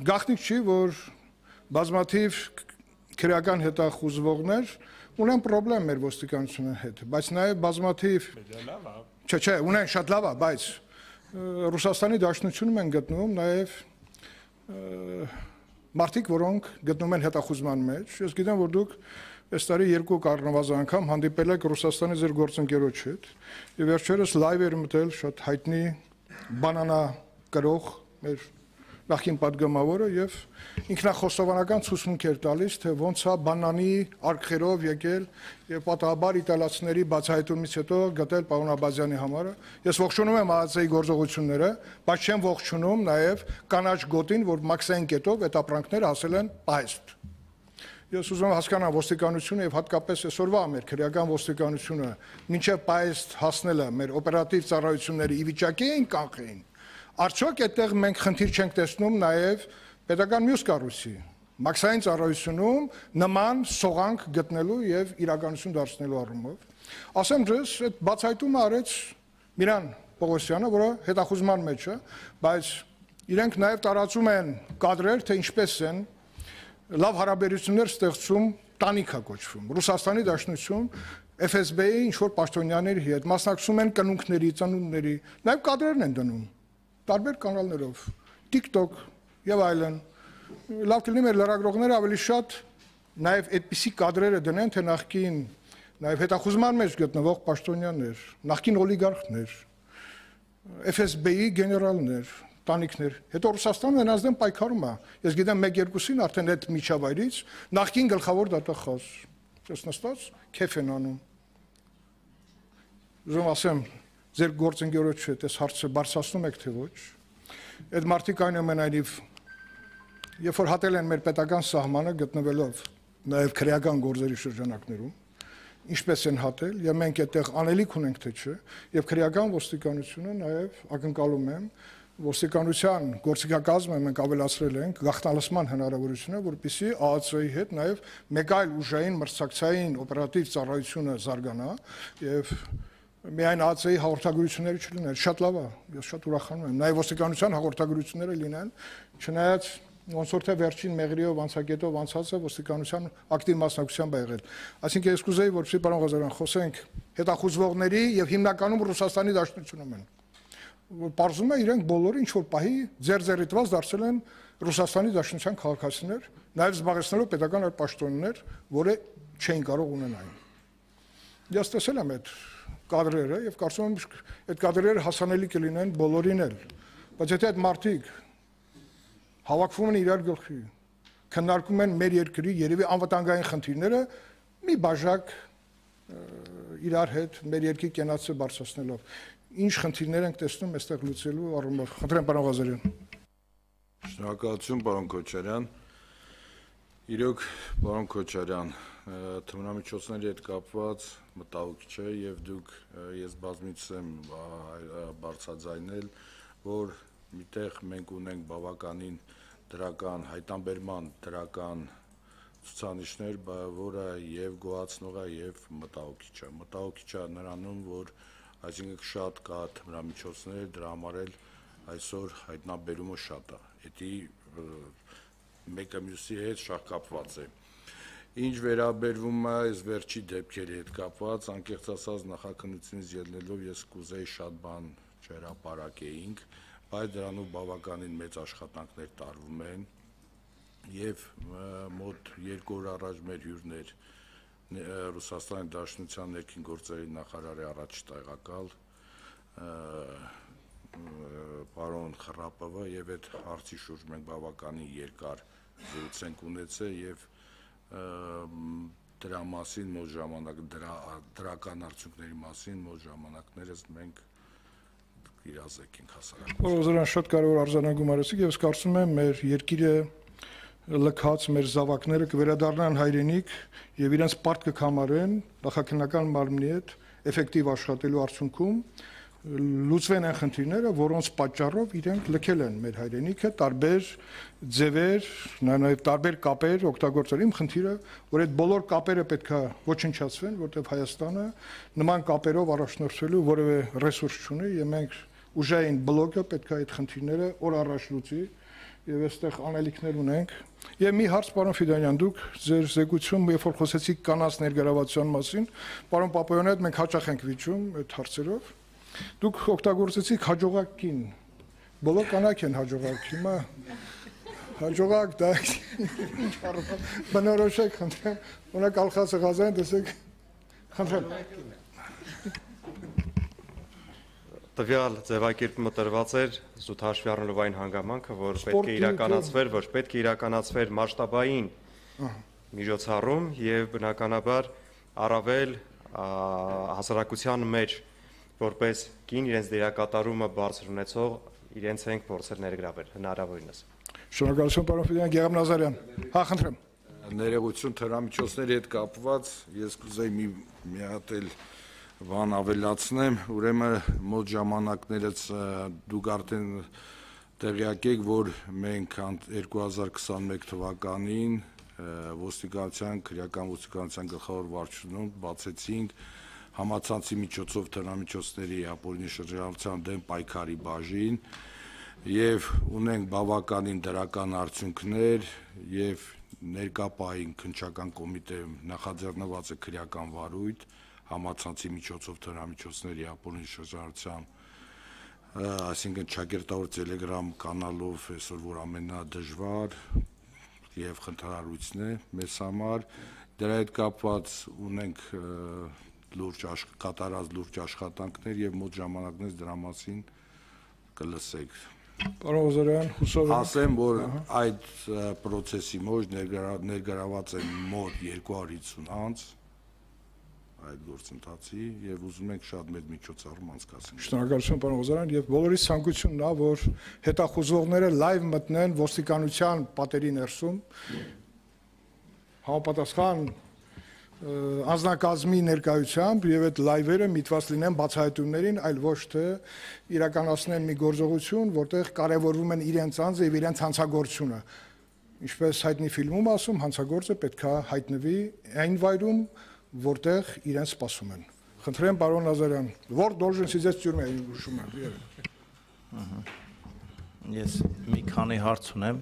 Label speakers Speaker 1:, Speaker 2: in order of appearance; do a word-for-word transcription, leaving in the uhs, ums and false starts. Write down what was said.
Speaker 1: գաղտնիք չի, որ բազմաթիվ քրեական հետախուզվողներ ունեն պրոբլեմ մեր ոստիկանության հետ, բայց նաև բազմաթիվ Չէ, չէ, ունեն շատ լավ է, բայց Ռուսաստանի Դաշնությունում են գտնվում նաև մարդիկ, որոնք գտնվում են հետախուզման մեջ։ Ես գիտեմ, որ դուք այս տարի երկու առնվազն անգամ հանդիպել եք Ռուսաստանի ձեր գործընկերոջ հետ, եւ վերջերս լայվ էր մտել շատ հայտնի բանանա կրող մեր նախին պատգամավորը եւ ինքնախոստովանական ցուցմունք էր տալիս, թե ոնց է բանանի արկղերով եկել եւ պատահաբար իտալացիների բացահայտումից հետո գտել պարոն Աբազյանի համարը։ Ես ողջունում եմ ԱԱՑ-ի գործողությունները, բայց չեմ ողջունում նաեւ կանաչ գոտին, որ մաքսային կետով այդ ապրանքները հասել են պահեստ։ Ես ուզում եմ հասկանալ ոստիկանությունը եւ հատկապես այսօրվա մեր քրեական ոստիկանությունը մինչեւ պահեստ հասնելը մեր օպերատիվ ծառայությունների ի վիճակի են կանխեին։ Արդյոք այդտեղ մենք խնդիր չենք տեսնում նաև պետական մյուս կառույցի մաքսային ծառայությունում նման սողանք գտնելու եւ իրականություն դարձնելու առումով։ Ասեմ ձեզ, այդ բացահայտումը արեց Միրան Պողոսյանը, որը հետախուզման մեջ է, բայց իրենք նաև տարածում են կադրեր, թե ինչպես են լավ հարաբերություններ ստեղծում տանիքա կոչվում։ Ռուսաստանի Դաշնություն Էֆ Էս Բի-ի ինչ-որ պաշտոնյաների հետ մասնակցում են կնունքների, ծնունդների, նաև կադրերն են դնում տարբեր կանալներով, TikTok եւ այլն։ Լավ կլինի մեր լրագրողները ավելի շատ նաեւ այդպիսի կադրերը դնեն, թե նախկին նաեւ հետախուզման մեջ գտնվող պաշտոնյաներ, նախկին օլիգարխներ, Էֆ Էս Բի-ի գեներալներ, տանիքներ, հետո Ռուսաստանը նրանց դեմ պայքարում է։ Ես գիտեմ մեկ-երկուսին արդեն այդ միջավայրից նախկին գլխավոր դատախազ, ես նստած քեֆ են անում։ Ուզում ասեմ ձեր գործընկերոջ հետ այս հարցը բարձրացնում եք թե ոչ։ Այդ մարդիկ այնուամենայնիվ երբ որ հատել են մեր պետական սահմանը գտնվելով նաև քրեական գործերի շրջանակներում, ինչպես են հատել, եւ մենք այդտեղ անելիք ունենք թե չէ, եւ քրեական ոստիկանությունը նաև ակնկալում եմ ոստիկանության գործիքակազմը մենք ավելացրել ենք գաղտնալսման հնարավորությունը, որպեսզի ԱԱՑ-ի հետ նաև մեկ այլ ուժային մրցակցային օպերատիվ ծառայությունը զարգանա եւ միայն ԱԱՑ-ի հաղորդագրությունները չլինեն, շատ լավ է, ես շատ ուրախանում եմ, նաև ոստիկանության հաղորդագրությունները լինեն, չնայած ոնց որ թե վերջին մեղրիով անցակետով անցածը ոստիկանության ակտիվ մասնակցությամբ է եղել։ Այսինքն ես կուզեի, որպեսզի պարոն Ղազարյան խոսենք հետախուզվողների եւ հիմնականում Ռուսաստանի Դաշնությունում են, որ պարզվում է իրենք բոլորը ինչ որ պահի ձեր ձեռիտված դարձել են Ռուսաստանի Դաշնության քաղաքացիներ, նաև զբաղեցնելով պետական այդ պաշտոններ, որը չէին կարող ունենալ։ Ես տեսել եմ այդ կադրերը եւ կարծում եմ այդ կադրերը հասանելի կլինեն բոլորին էլ, բայց եթե այդ մարդիկ հավաքվում են իրար գլխի, քննարկում են մեր երկրի երևի անվտանգային խնդիրները, մի բաժակ իրար հետ մեր երկրի կենացը բարձրացնելով, ինչ խնդիրներ ենք տեսնում այստեղ լուծելու առումով։ Խնդրեմ պարոն Ղազարյան։
Speaker 2: Շնորհակալություն պարոն Քոչարյան։ Իրոք պարոն Քոչարյան, թմրամիջոցների հետ կապված մտահոգ չէ եւ դուք ես բազմիցս եմ բարձրաձայնել, որ միտեղ մենք ունենք բավականին դրական հայտանբերման դրական ցուցանիշներ, որը եւ գոհացնող է եւ մտահոգիչ է։ Մտահոգիչ է նրանում, որ այսինքն շատ կա թմրամիջոցներ, դրա համար էլ այսօր հայտնաբերումը շատ է։ Դա մեկը մյուսի հետ շատ կապված է։ Ինչ վերաբերվում է այս վերջի դեպքերի հետ կապված, անկեղծ ասած նախաքննությունից ելնելով ես կուզեի շատ բան չհրապարակեինք, բայց դրանով բավականին մեծ աշխատանքներ տարվում են եւ մոտ երկու օր առաջ մեր հյուրներ Ռուսաստանի Դաշնության ներքին գործերի նախարարի առաջ տեղակալ պարոն Խռապովը եւ այդ հարցի շուրջ մենք բավականին երկար զրույց ունեցել եւ դրա մասին մոտ ժամանակ դրա դրական արդյունքների մասին մոտ ժամանակներս մենք իրազեկենք հասարակություն։
Speaker 1: Ողջույն, շատ կարևոր արձանագրում արեցիք եւ ես կարծում եմ մեր երկիրը լքած մեր զավակները կվերադառնան հայրենիք եւ իրենց պարտք կհամարեն նախաքննական մարմնի հետ էֆեկտիվ աշխատելու արդյունքում լուծվեն այն խնդիրները, որոնց պատճառով իրենք լքել են մեր հայրենիքը, տարբեր ձևեր, նաև տարբեր կապեր օգտագործել։ Իմ խնդիրը, որ այդ բոլոր կապերը պետք է ոչնչացվեն, որտեղ Հայաստանը նման կապերով առաջնորդվելու որևէ ռեսուրս չունի, եւ մենք ուժային բլոկը պետք է այդ խնդիրները օր առաջ լուծի, եւ այստեղ անելիքներ ունենք։ Եվ մի հարց, պարոն Ֆիդանյան, դուք ձեր զեկույցում, երբ որ խոսեցիք կանանց ներգրավվածության մասին, պարոն Պապոյանի հետ մենք հաճախ ենք վիճում այդ հարցերով։ Դուք օգտագործեցիք հաջողակ կին։ Բոլոր կանայք են հաջողակ, հիմա հաջողակ դա բնորոշեք, խնդրեմ, ունեք Ալխասը Ղազարյան, տեսեք, խնդրեմ։
Speaker 3: Տվյալ ձևակերպումը տրված էր զուտ հաշվի առնելով այն հանգամանքը, որ պետք է իրականացվեր, որ պետք է իրականացվեր մասշտաբային միջոցառում եւ բնականաբար առավել հասարակության մեջ որպես կին իրենց դերակատարումը բարձր ունեցող իրենց ենք փորձել ներգրավել հնարավորինս։
Speaker 1: Շնորհակալություն, պարոն Ֆիդանյան, Գեգամ Նազարյան։ Հա, խնդրեմ։
Speaker 2: Ներողություն թմրամիջոցների հետ կապված ես կուզեի մի մի հատ էլ բան ավելացնեմ, ուրեմն մոտ ժամանակներս դուք արդեն տեղյակ եք, որ մենք երկու հազար քսաներկու թվականին ոստիկանության, քրեական ոստիկանության գլխավոր վարչությունում բացեցինք համացանցի միջոցով թմրամիջոցների ապօրինի շրջանառության դեմ պայքարի բաժին եւ ունենք բավականին դրական արդյունքներ եւ ներկա պահին քննչական կոմիտեում նախաձեռնված է քրեական վարույթ համացանցի միջոցով թմրամիջոցների ապօրինի շրջանառության, այսինքն ճակերտավոր Telegram կանալով այսօր որ ամենադժվար եւ խնդրահարույցն է մեզ համար, դրա հետ կապված ունենք լուրջ կատարած լուրջ աշխատանքներ եւ մոտ ժամանակներս դրա մասին կլսեք։
Speaker 1: Պարոն Ղազարյան, հուսով եմ։
Speaker 2: Ասեմ, որ այդ process-ի մեջ ներգրաված են մոտ երկու հարյուր հիսուն անձ այդ գործընթացի եւ ուզում ենք շատ մեծ միջոցառում անցկացնել։
Speaker 1: Շնորհակալություն, պարոն Ղազարյան, եւ բոլորիս ցանկությունն է, որ հետախուզողները լայվ մտնեն ոստիկանության պատերի ներսում համապատասխան անձնակազմի ներկայությամբ եւ այդ լայվերը միտված լինեն բացահայտումներին, այլ ոչ թե իրականացնեն մի գործողություն, որտեղ կարևորվում են իրենց անձը եւ իրենց հանցագործությունը։ Ինչպես հայտնի ֆիլմում ասում, հանցագործը պետքա հայտնվի այն վայրում, որտեղ իրենց սպասում են։ Խնդրեմ, պարոն Նազարյան, որ դոլժենսի ձեզ ծյուրում է ուշում եմ։
Speaker 4: Ես մի քանի հարց ունեմ,